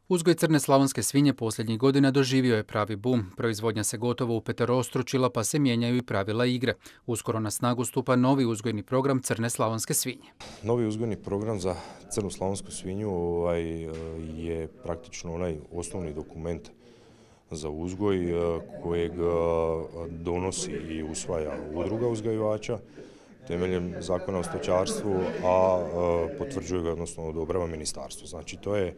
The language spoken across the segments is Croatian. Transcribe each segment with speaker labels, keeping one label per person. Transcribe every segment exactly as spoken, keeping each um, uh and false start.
Speaker 1: Uzgoj crne slavonske svinje posljednjih godina doživio je pravi bum. Proizvodnja se gotovo upeterostručila pa se mijenjaju i pravila igre. Uskoro na snagu stupa novi uzgojni program crne slavonske svinje.
Speaker 2: Novi uzgojni program za crnu slavonsku svinju ovaj, je praktično onaj osnovni dokument za uzgoj kojeg donosi i usvaja udruga uzgajivača temeljem zakona o stočarstvu, a potvrđuje ga, odnosno odobrava ministarstvo. Znači to je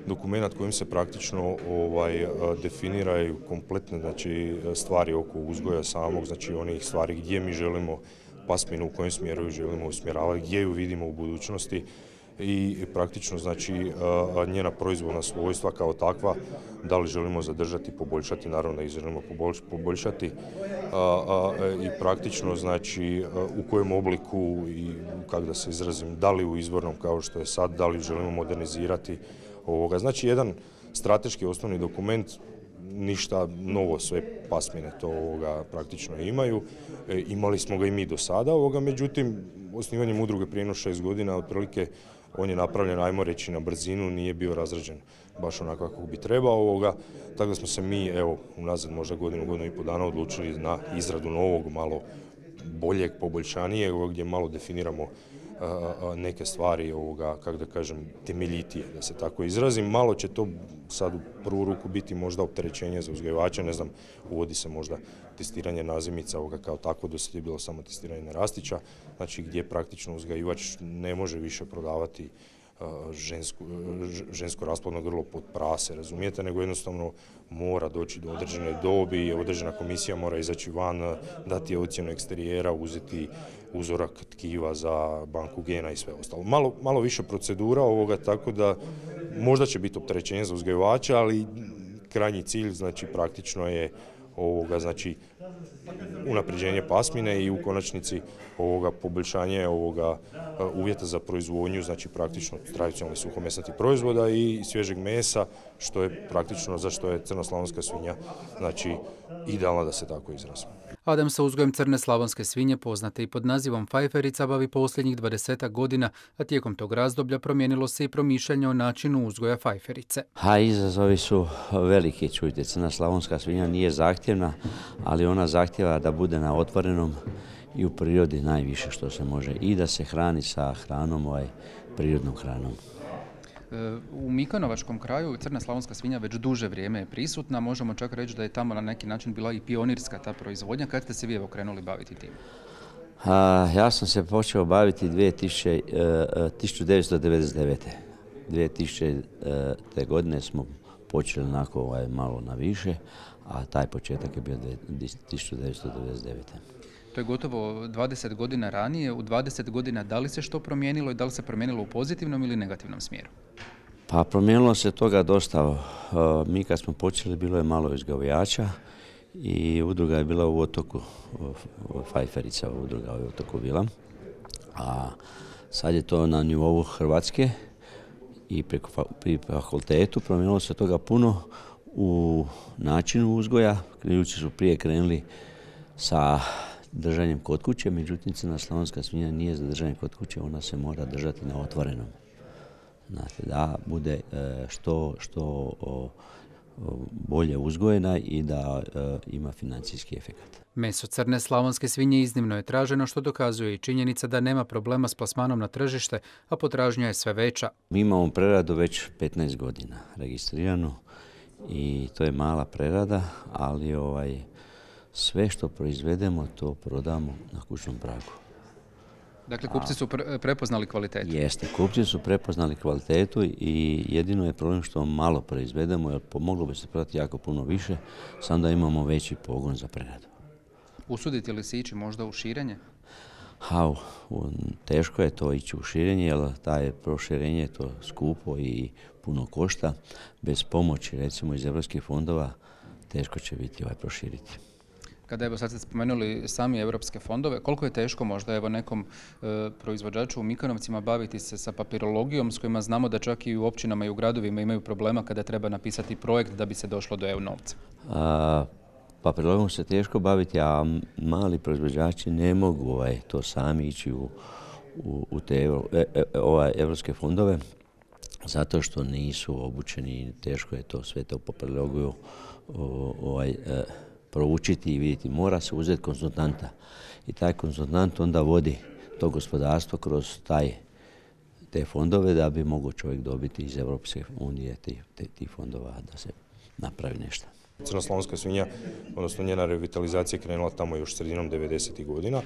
Speaker 2: dokument kojim se praktično ovaj, definiraju kompletne znači, stvari oko uzgoja samog, znači onih stvari gdje mi želimo pasminu, u kojem smjeru ju želimo usmjeravati, gdje ju vidimo u budućnosti i praktično znači njena proizvodna svojstva kao takva, da li želimo zadržati, poboljšati, naravno da ih želimo poboljšati i praktično znači u kojem obliku i kako da se izrazim, da li u izvornom kao što je sad, da li želimo modernizirati ovoga. Znači jedan strateški osnovni dokument, ništa novo, sve pasmine to ovoga praktično imaju. E, imali smo ga i mi do sada, ovoga, međutim osnivanjem udruge prije šest godina otprilike on je napravljen, ajmo reći, na brzinu, nije bio razrađen baš onako kako bi trebao ovoga. Tako da smo se mi, evo, unazad možda godinu, godinu i pol dana odlučili na izradu novog, malo boljeg, poboljšanijeg, gdje malo definiramo neke stvari, ovoga, kako da kažem, temeljitije, da se tako izrazim. Malo će to sad u prvu ruku biti možda opterećenje za uzgajivača, ne znam, uvodi se možda testiranje nazimica, ovoga kao tako, do sad je bilo samo testiranje narastića, znači gdje praktično uzgajivač ne može više prodavati žensko, žensko rasplodno grlo pod prase, razumijete, nego jednostavno mora doći do određene dobi, određena komisija mora izaći van, dati ocjenu eksterijera, uzeti uzorak tkiva za banku gena i sve ostalo. Malo, malo više procedura ovoga, tako da možda će biti opterećenje za uzgajivača, ali krajnji cilj znači praktično je ovoga, znači unapređenje pasmine i u konačnici ovoga poboljšanje ovoga uvjeta za proizvodnju, znači praktično tradicionalnih suhomesnatih proizvoda i svježeg mesa, što je praktično za što je crna slavonska svinja, znači idealna, da se tako izrazim.
Speaker 1: Adam sa uzgojem crne slavonske svinje, poznate i pod nazivom fajferica, bavi posljednjih dvadesetak godina, a tijekom tog razdoblja promijenilo se i promišljanje o načinu uzgoja fajferice.
Speaker 3: Ha, izazovi su veliki, čujte, crna slavonska svinja nije zahtjevna, ali ona zahtjeva da bude na otvorenom i u prirodi najviše što se može i da se hrani sa hranom, ovaj, prirodnom hranom.
Speaker 1: U Mikanovačkom kraju crna slavonska svinja već duže vrijeme je prisutna, možemo čak reći da je tamo na neki način bila i pionirska ta proizvodnja. Kad ste se vi evo krenuli baviti tim?
Speaker 3: A, ja sam se počeo baviti tisuću devetsto devedeset devete. dvije tisućite. godine smo počeli onako ovaj, malo na više, a taj početak je bio tisuću devetsto devedeset devete.
Speaker 1: To je gotovo dvadeset godina ranije. U dvadeset godina da li se što promijenilo i da li se promijenilo u pozitivnom ili negativnom smjeru?
Speaker 3: Pa promijenilo se toga dosta. Mi kad smo počeli bilo je malo uzgajivača i udruga je bila u Otoku, fajferica udruga u Otoku bila. A sad je to na nivou Hrvatske i preko, pri fakultetu promijenilo se toga puno u načinu uzgoja. Ljudi su prije krenuli sa držanjem kod kuće, međutim crna slavonska svinja nije za držanje kod kuće, ona se mora držati na otvorenom. Znate, da bude što, što bolje uzgojena i da ima financijski efekt.
Speaker 1: Meso crne slavonske svinje iznimno je traženo, što dokazuje i činjenica da nema problema s plasmanom na tržište, a potražnja je sve veća.
Speaker 3: Mi imamo preradu već petnaest godina registriranu i to je mala prerada, ali ovaj, sve što proizvedemo to prodamo na kućnom pragu.
Speaker 1: Dakle, kupci su pre- prepoznali kvalitetu?
Speaker 3: Jeste, kupci su prepoznali kvalitetu i jedino je problem što malo proizvedemo, jer moglo bi se prodati jako puno više, samo da imamo veći pogon za preradu.
Speaker 1: Usudite li se ići možda u širenje?
Speaker 3: Ha, teško je to ići u širenje, jer taj proširenje je to skupo i puno košta. Bez pomoći, recimo iz europskih fondova, teško će biti ovaj proširiti.
Speaker 1: Kada evo sad ste spomenuli sami europske fondove, koliko je teško možda evo nekom e, proizvođaču u Mikanovcima baviti se sa papirologijom s kojima znamo da čak i u općinama i u gradovima imaju problema kada treba napisati projekt da bi se došlo do E U novca?
Speaker 3: A, papirologijom se teško baviti, a mali proizvođači ne mogu ovaj, to sami ići u, u, u te evo, e, e, ovaj, evropske fondove, zato što nisu obučeni, teško je to sve to papirologiju ovaj, e, proučiti i vidjeti. Mora se uzeti konzultanta i taj konzultant onda vodi to gospodarstvo kroz taj, te fondove da bi mogao čovjek dobiti iz Europske unije tih te, ti fondova da se napravi nešto.
Speaker 2: Crnoslavonska svinja, odnosno njena revitalizacija je krenula tamo još sredinom devedesetih godina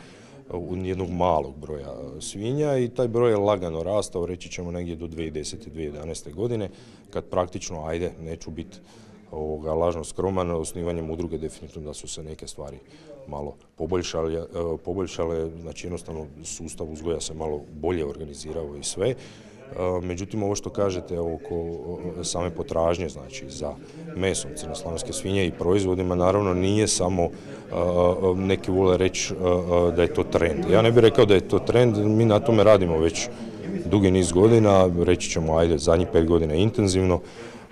Speaker 2: u jednog malog broja svinja i taj broj je lagano rastao, reći ćemo negdje do dvije tisuće desete. dvije tisuće jedanaeste. godine, kad praktično, ajde, neću biti ovoga lažno skroman, osnivanjem udruge definitivno da su se neke stvari malo poboljšale, poboljšale, znači jednostavno sustav uzgoja se malo bolje organizirao i sve. Međutim, ovo što kažete oko same potražnje, znači za mesom crnoslavonske svinje i proizvodima, naravno nije samo, neki vole reći da je to trend. Ja ne bih rekao da je to trend, mi na tome radimo već dugi niz godina, reći ćemo, ajde, zadnjih pet godina intenzivno.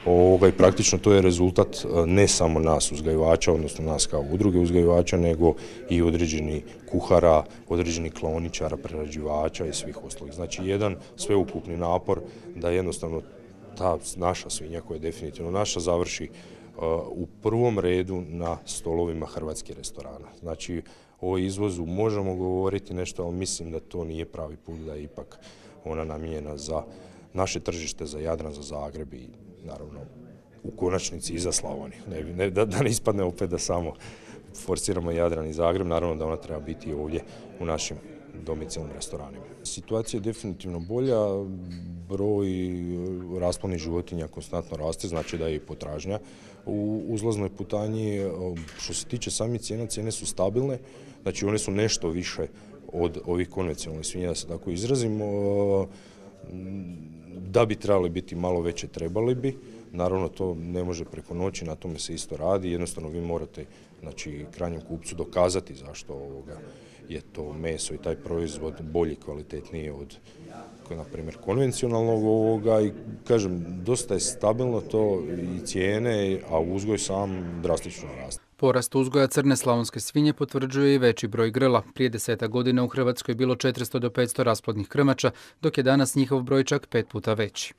Speaker 2: Ovoga, i praktično to je rezultat ne samo nas uzgajivača, odnosno nas kao udruge uzgajivača, nego i određeni kuhara, određeni klaoničara, prerađivača i svih ostalih. Znači jedan sveukupni napor da jednostavno ta naša svinja, koja je definitivno naša, završi uh, u prvom redu na stolovima hrvatskih restorana. Znači o izvozu možemo govoriti nešto, ali mislim da to nije pravi put, da je ipak ona namijenjena za naše tržište, za Jadran, za Zagreb i naravno u konačnici i za Slavoniju. Ne, ne, da, da ne ispadne opet da samo forsiramo Jadran i Zagreb, naravno da ona treba biti ovdje u našim domicilnim restoranima. Situacija je definitivno bolja, broj rasplodnih životinja konstantno raste, znači da je i potražnja u uzlaznoj putanji. Što se tiče samih cijena, cijene su stabilne, znači one su nešto više od ovih konvencionalnih svinja, da se tako izrazimo. Da bi trebali biti malo veće, trebali bi. Naravno, to ne može preko noći, na tome se isto radi. Jednostavno, vi morate, znači, krajnjem kupcu dokazati zašto ovoga je to meso i taj proizvod bolji, kvalitetniji od, na primjer, konvencionalnog ovoga. I, kažem, dosta je stabilno to i cijene, a uzgoj sam drastično raste.
Speaker 1: Porast uzgoja crne slavonske svinje potvrđuje i veći broj grla. Prije desetak godina u Hrvatskoj je bilo četiristo do petsto rasplodnih krmača, dok je danas njihov broj čak pet puta veći.